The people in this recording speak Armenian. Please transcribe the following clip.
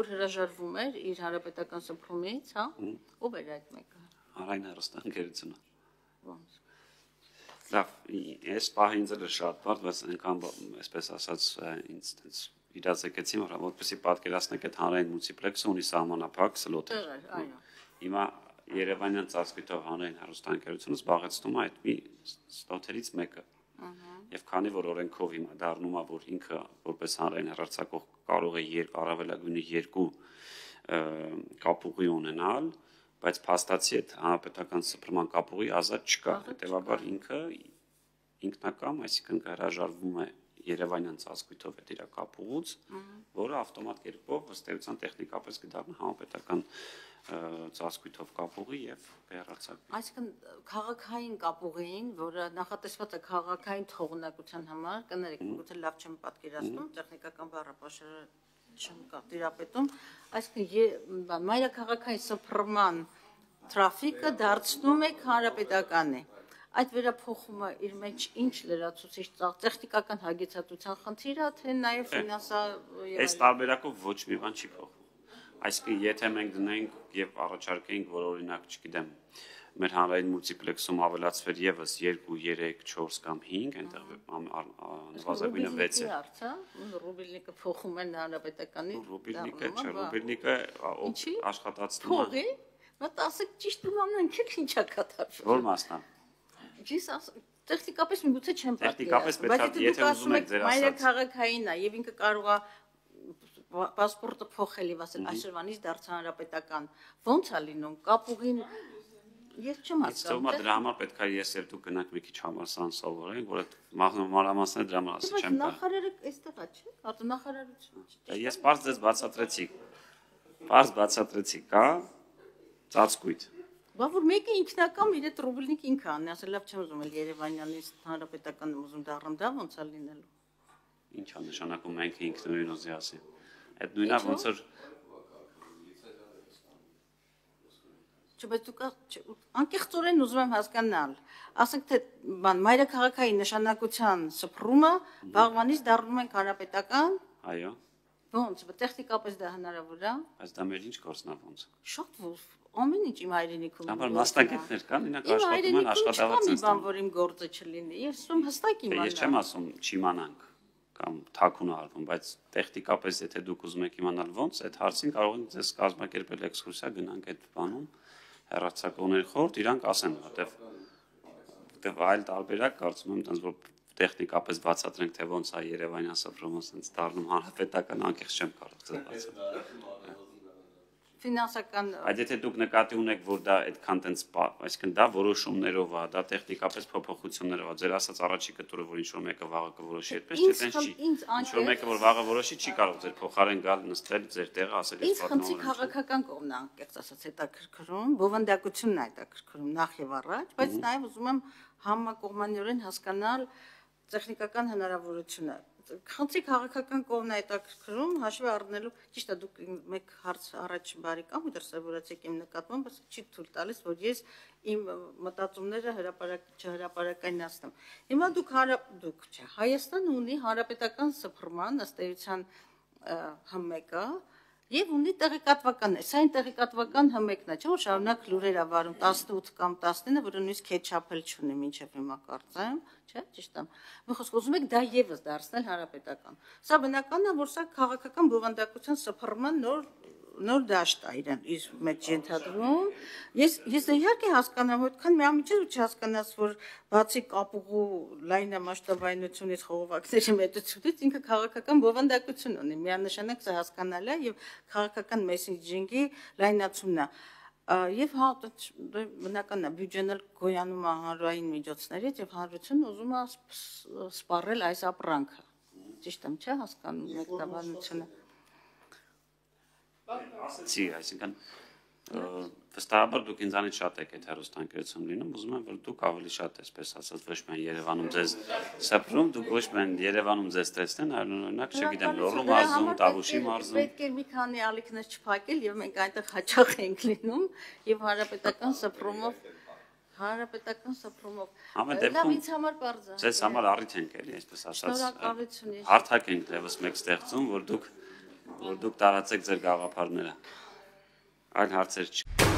որ հրաժարվում էր իր հանրապետական սփռումից, հա, ով էր այդ մեկը։ Հանրային հեռուստաընկերությունը։ Ոնց։ Լավ, այս պահը ինձ էլ շատ բարդ, բայց այնքան այսպես ասած ինձ տենց իրազեկեցի, որ որպեսզի պատկերացնեք այդ հանրային մուլտիպլեքսը ունի սահմանափակ սլոտեր։ Այո։ Հիմա Երևանյան ծածկույթով հանրային հեռուստաընկերությունը զբաղեցնում է այդ մի սլոտերից մեկը։ Եվ քանի որ օրենքով հիմա դառնում է, որ ինքը որպես հանրային հեռարձակող կարող է առավելագույնը 2 կապուղի ունենալ, բայց փաստացի այդ հանրապետական սփռման կապուղի ազատ չկա, հետևաբար ինքը ինքնակամ, այսինքն հրաժարվում է Երևանյան ծածկույթով այդ իր կապուղուց, որը ավտոմատ կերպով ըստ էության տեխնիկապես կդառնա հանրապետական ծածկույթով կապուղի եւ կհեռարձակվի։ Այսինքն քաղաքային կապուղին, որը նախատեսված է քաղաքային թողունակության համար, կներեք, գուցե լավ չեմ պատկերացնում, տեխնիկական բառապաշարը չեմ տիրապետում, այսինքն մայրաքաղաքային սփռման տրաֆիկը դարձնում է հանրապետականի։ Այդ վերափոխումը իր մեջ ինչ լրացուցիչ տեխնիկական հագեցածության խնդիր է, թե նաև ֆինանսա Այս տարբերակով ոչ մի բան չի փոխվում։ Այսինքն եթե մենք դնենք եւ առաջարկենք, որ օրինակ, չգիտեմ, մեր հանրային մուլտիպլեքսում ավելացվեր եւս 2, 3, 4 կամ 5, այնտեղ նվազագույնը 6 է։ Ռուբիլնիկը փոխում են հանրապետականի։ Ռուբիլնիկը չէ, ռուբիլնիկը աշխատացնում է։ Փողի, բայց ասեք ճիշտ իմանանք, ինչա կատարվում։ Որ մասնա։ Տեխնիկապես միգուցե չեմ պատկերացնում, բայց եթե ուզում եք ձեր ասած մայրաքաղաքայինն է եւ ինքը կարող է պասպորտը փոխել եւ ասել այսօրվանից դարձա հանրապետական, ո՞նց է լինում, կապուղին ես չեմ հասկանում։ Դրա համար պետք է ես եւ դու գնանք մի քիչ համալսարան սովորենք, որ այդ մանրամասները դրա համար ասել չեմ կարող։ Նախարարը այստեղ է, չէ՞, արտոնախարարություն։ Ես բարձ ձեզ բացատրեցի։ Բարձ բացատրեցի, կա ծածկույթ։ Բա որ մեկը ինքնակամ իր այդ ռուբլնիկ ինքը անի, ասել լավ չեմ ուզում էլ Երևանյանից հանրապետական ուզում դառնամ, դա ո՞նց է լինելու։ Ինչ է նշանակում մենք ինքնուրույն ուզի ասի։ Այդ նույնը ոնց որ Բայց դուք անկեղծորեն ուզում եմ հասկանալ, ասենք թե բան մայրաքաղաքային նշանակության սփռումը վաղվանից դառնում են հանրապետական։ Այո։ Ոնց, տեխնիկապես դա հնարավոր է։ Բայց դա մեր ինչ գործնա ոնց։ Շատ ամեն ինչ իմ հայրենիքում։ Ապա մասնակիցներ կան, ինք աշխատում են աշխատավարձ են ստանում։ Որ իմ գործը չլինի, ես ում հստակ իմանամ։ Ես չեմ ասում չիմանանք կամ թաքուն արվում, բայց տեխնիկապես եթե դուք ուզում եք իմանալ ոնց, այդ հարցին կարող ենք ձեզ կազմակերպել էքսկուրսիա, գնանք այդ բանում հեռարձակողների խորհուրդ, իրանք ասեն, որտեվ այլ տարբերակ կարծում եմ, այնպես որ տեխնիկապես բացատրենք, թե ոնց է Երևանյան սփռումը sense դառնում հանրապետական, անկեղծ չեմ կարող ձեզ բացատրել։ Ֆինանսական Այդ եթե դուք նկատի ունեք, որ դա այդքան տենց, այսինքն դա որոշումներով է, դա տեխնիկապես փոփոխություններով է, ձեր ասած առաջիկը տուրը, որ ինչ-որ մեկը վաղը կորոշի, այդպես չէ, տենց չի։ Ինչ-որ մեկը որ վաղը որոշի, չի կարող ձեր փոխարեն գալ նստել ձեր տեղը, ասել ես պատմում եմ։ Իսկ քաղաքական կողմն է, անկեղծ ասած, հետաքրքրում, բովանդակությունն է հետաքրքրում նախ եւ առաջ, բայց նաեւ ուզում եմ համակողմանիորեն հասկանալ տեխնիկական հնարավորությունը։ Խնդրի քաղաքական կողմն է հետաքրքրում, հաշվի առնելու, ճիշտ է, դուք մեկ հարց առաջ բարեկամ ու դրսևորեցիք իմ նկատմամբ, բայց չի թույլ տալիս, որ ես իմ մտածումները չհրապարակայնացնեմ։ Հիմա դուք չէ, Հայաստանը ունի հանրապետական սփռման ըստ էության հմեկը եւ ունի տեղեկատվական, սա այն տեղեկատվական հմեկն է, չէ՞ որ շարունակ լուրեր ավարում 18 կամ 19, որը նույնիսկ քեչափել չունի մինչեւ հիմա կարծեմ, չէ՞, ճիշտ եմ։ Մի խոսք ուզում եք դա եւս դարձնել հանրապետական։ Սա բնական է, որ սա քաղաքական բովանդակության սփռման նոր դաշտ է իրեն իր մեջ ենթադրում։ Ես իհարկե հասկանամ, որքան միամիջը չհասկանաս, որ բացի կապուղու լայնամասշտաբայնությունից խողովակների մեծությունից ինքը քաղաքական բովանդակություն ունի։ Միանշանակ սա հասկանալ է եւ քաղաքական մեսեջինգի լայնացումն է։ Եվ հա բնական է բյուջեն էլ գոյանում է հանրային միջոցներից եւ հանրությունը ուզում է սպառել այս ապրանքը։ Ճիշտ եմ, չէ՞ հասկանում մեկնաբանությունը։ Ասեցի, այսինքն վստահաբար դուք ինձանից շատ եք այդ հեռուստաընկերություն լինում, ուզում եմ որ դուք ավելի շատ այսպես ասած ոչ միայն Երևանում ձեզ սփռում, դուք ոչ միայն Երևանում ձեզ տեսնեն, այլ օրինակ, չգիտեմ, Լոռու մարզում, Տավուշի մարզում։ Պետք է մի քանի ալիքներ չփակել եւ մենք այնտեղ հաճախ ենք լինում եւ հանրապետական սփռումով Ամեն դեպքում ինձ համար բարձ ձեզ համար առիթ ենք էլի, այսպես ասած հարթակ ենք դեպս մեկ ստեղծում, որ դուք որ դուք տարածեք ձեր գաղափարները։ Այլ հարցեր չկա։